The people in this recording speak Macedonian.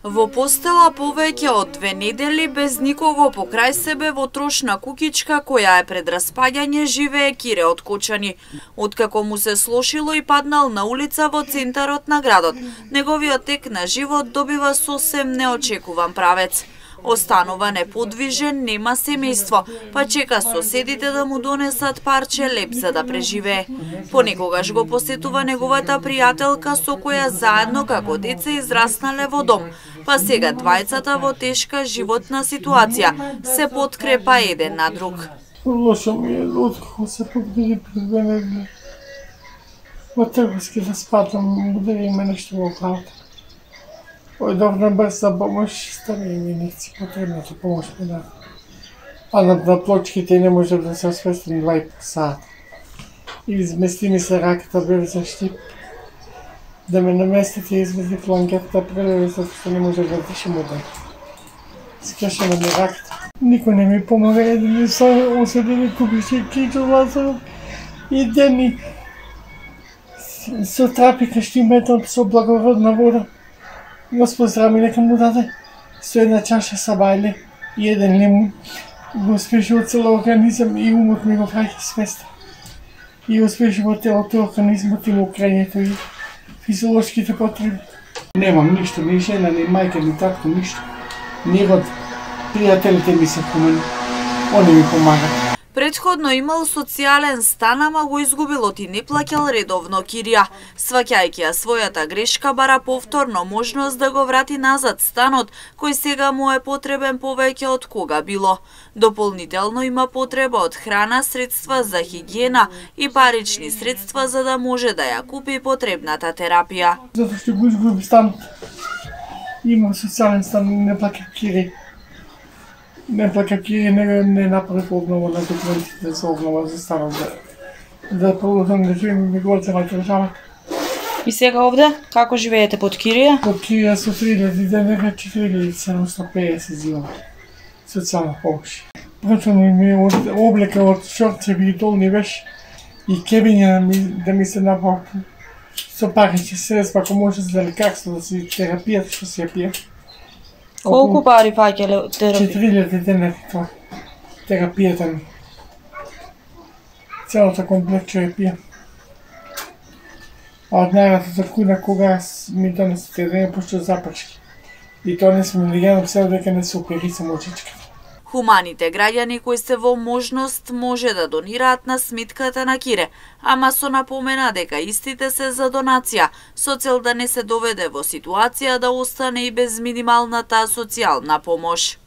Во постела повеќе од 2 недели без никого покрај себе во трошна куќичка која е пред распаѓање живее Кире од Кочани. Откако му се слошило и паднал на улица во центарот на градот, неговиот тек на живот добива сосем неочекуван правец. Останува неподвижен, нема семејство, па чека соседите да му донесат парче леб за да преживее. Понекогаш го посетува неговата пријателка со која заедно како деца израснале во дом, па сега двајцата во тешка животна ситуација се подкрепа еден на друг. Лошо ми е, откако се подгри пред мене, во трговски да спадам, удари ме нешто во главата. Дојдов на брза помош, стави ми инекција, потребната помош ми да. Паднат на плочките и не можев да се освестим 2,5 сата. И измести ми се раката, бе за штип. Да ме наместите и измести планкета прелеви, затоа што не можев да дишам одан. Скашена ми раката. Никој не ми помага, еден со оседени купише кичо Лазаров и денник. Со трапика штиметот, со благородна вода. Господ здрави нека му даде со една чаша сабајле и еден лимун. Го успеше од цело организам и умот ми го праќа свеста. И успеше во телото организмот и му крањето и физиолошките потреби. Немам ништо, ни жена, ни мајка, ни татко, ништо. Ни род. Пријателите ми се хумани. Они ми помагат. Претходно имал социјален стан, ама го изгубил и не плаќал редовно кирија. Сваќајќи ја својата грешка, бара повторно можност да го врати назад станот, кој сега му е потребен повеќе од кога било. Дополнително има потреба од храна, средства за хигиена и парични средства за да може да ја купи потребната терапија. Затоа што го изгуби станот. Има социјален стан, не плаќа кири. Не плаќа кири, не направи обнова на документите за обнова за станот, да продолжам да живеем неговата држава. И сега овде, како живеете под кирија? Под кирија со 3000 денега 4750 зима. Социјална помош. Прачано ми од облека од шорцеви и долни веш и кебиња да ми се напака. Со парични средства, ако може за лекарство, да си терапијата што се ја пие. Колку пари фаќале терапија? 4000 денега тоа. Терапијата ми. Целата комплект што ја пие. А од најната за куна кога ми донесете денега пошто запршки. И тоа не сме легено се дека не се оперисам очичката. Хуманите граѓани кои се во можност може да донираат на сметката на Кире, ама со напомена дека истите се за донација, со цел да не се доведе во ситуација да остане и без минималната социјална помош.